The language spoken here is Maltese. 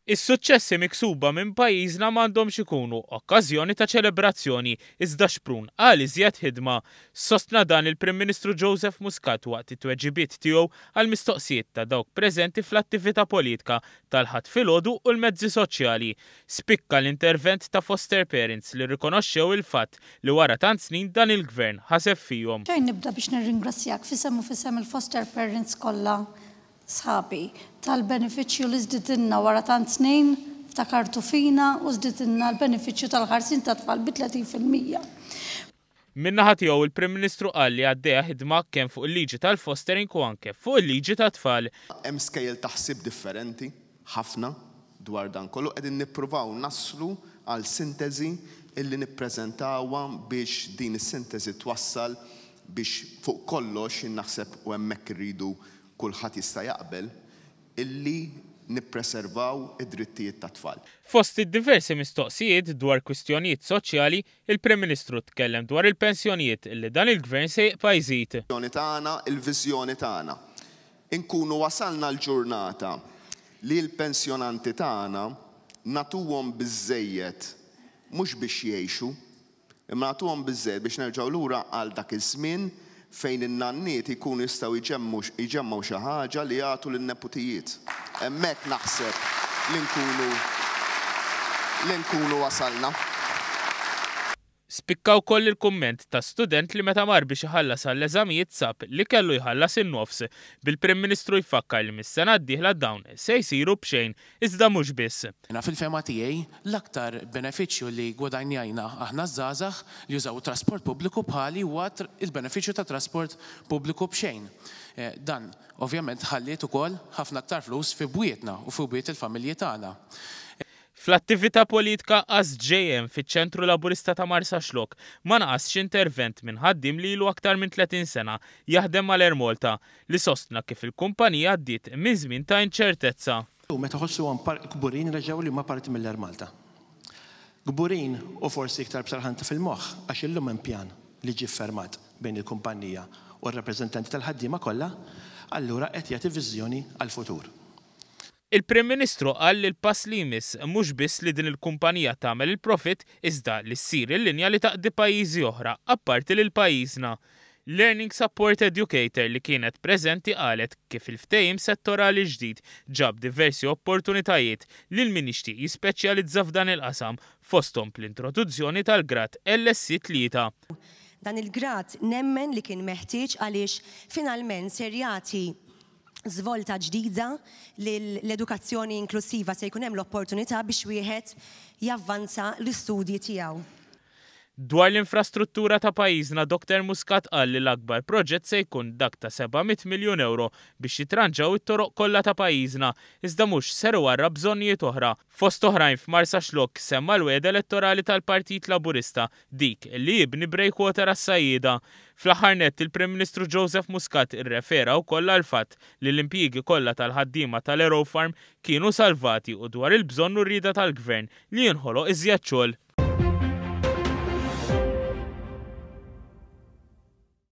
Is-suċċessi miksuba minn pajjiżna m'għandhomx ikunu okkażjoni ta' ċelebrazzjoni iżda xprun għal iżjed ħidma. Sostna dan il-Prim Ministru Joseph Muscat waqt it-tweġibiet tiegħu għall-mistoqsijiet ta' dawk preżenti fl-attività politka tal-Ħadd filgħodu u l-mezzi soċjali. Spikka l-intervent ta' foster parents li rrikonoxxew il-fatt li wara tant snin dan il-Gvern ħaseb fihom. Xejn nibda biex nirringrazzjak f'isem u f'isem il-foster parents kollha sħabi, tal-benefiċċju li żdidilna wara tant snin, ftakartu fina u żdidilna l-benefiċċju tal-ħarsien tat-tfal bi 30%. Min-naħa tiegħu il-Prim Ministru qal li għaddejja ħidma kemm fuq il-liġi tal-fostering u anke fuq il-liġi tat-tfal. Hemm skejjel ta' ħsieb differenti ħafna dwar dan kollu. Qegħdin nippruvaw naslu għal sinteżi illi nippreżentawha biex din is-sinteżi twassal biex fuq kollox, jien naħseb u hemmhekk irridu kulħadd jista' jaqbel, illi nippreservaw id-drittijiet tat-tfal. Fost id-diversi mistoqsijiet dwar kwistjonijiet soċjali, il-Prim Ministru tkellem dwar il-pensjonijiet li dan il-Gvern se jibqa' jżid. Tagħna, il-viżjoni tagħna. Inkunu wasalna l-ġurnata li l-pensjonanti tagħna nagħtuhom biżżejjed mhux biex jgħixu, Imma nagħtuhom biżżejjed biex nerġgħu lura għal dak iż-żmien fejn in-nanniet jkunu jistgħu jġemmgħu jġemmgħu xi ħaġa li jagħtu lin-neputijiet. Hemmhekk naħseb li nkunu li nkunu wasalna. Spikka wkoll il-kumment ta' student li meta mar biex iħallas għall-eżamijiet sab li kellu jħallas in-nofs, bil-Prim Ministru jfakkar li mis-sena d-dieħla dawn se jsiru b'xejn Iżda mhux biss. Jiena fil-fehma tiegħi, l-aktar benefiċċju li ggwadanjajna aħna ż-żgħażagħ li jużaw it-trasport pubbliku bħali huwa l-benefiċċju tat-trasport pubbliku b'xejn. Dan ovvjament ħalliet ukoll ħafna aktar flus fi bwietna u fi bwiet il-familji tagħna. Fl-attività politka ASJM fiċ-Ċentru Laburista ta' Marsaxlokk ma naqasx intervent minn ħaddiem li ilu aktar minn 30 sena jaħdem mal-Air Malta li sostna kif il-kumpanija għaddiet minn żmien ta' inċertezza. U meta ħossuhom kburin reġgħu li huma parti mill-Air Malta. Kburin u forsi iktar b'serħan fil-moħħ għax illum hemm pjan li ġie ffermat bejn il-kumpanija u r-rappreżentanti tal-ħaddiema kollha, allura qed jagħti viżjoni għall-futur. Il-Prim Ministru qal li l-pass li jmiss mhux biss li din il-kumpanija tagħmel il-profitt iżda li ssir il-linja li taqdi pajjiżi oħra apparti lil pajjiżna. Learning Support Educator li kienet preżenti qalet kif il-ftehim settorali ġdid ġab diversi opportunitajiet lil min jixtieq jispeċjalizza f'dan il-qasam fosthom bl-introduzzjoni tal-grad LSC 3. Dan il-grad nemmen li kien meħtieġ għaliex finalment ser jagħti żvolta ġdida lill-edukazzjoni inklussiva, se jkun hemm l-opportunità biex wieħed javvanza l-istudji tiegħu. Dwar l-infrastruttura ta' pajjiżna Doctor Muscat qal li l-akbar proġett se jkun dak ta' 700 miljun ewro biex jitranġaw it-toroq kollha ta' pajjiżna, iżda mhux ser iwarrab bżonnijiet oħra. Fost oħrajn f'Marsaxlokk semma l-wegħda elettorali tal-Partit Laburista dik li jibni breakwater għas-sajjieda. Fl-aħħar nett, il-Prim Ministru Joseph Muscat irrefera wkoll għall-fatt li l-impjiegi kollha tal-ħaddiema tal-Aerofarm kienu salvati u dwar il-bżonn u r-rieda tal-Gvern li jinħoloq iżjed xogħol.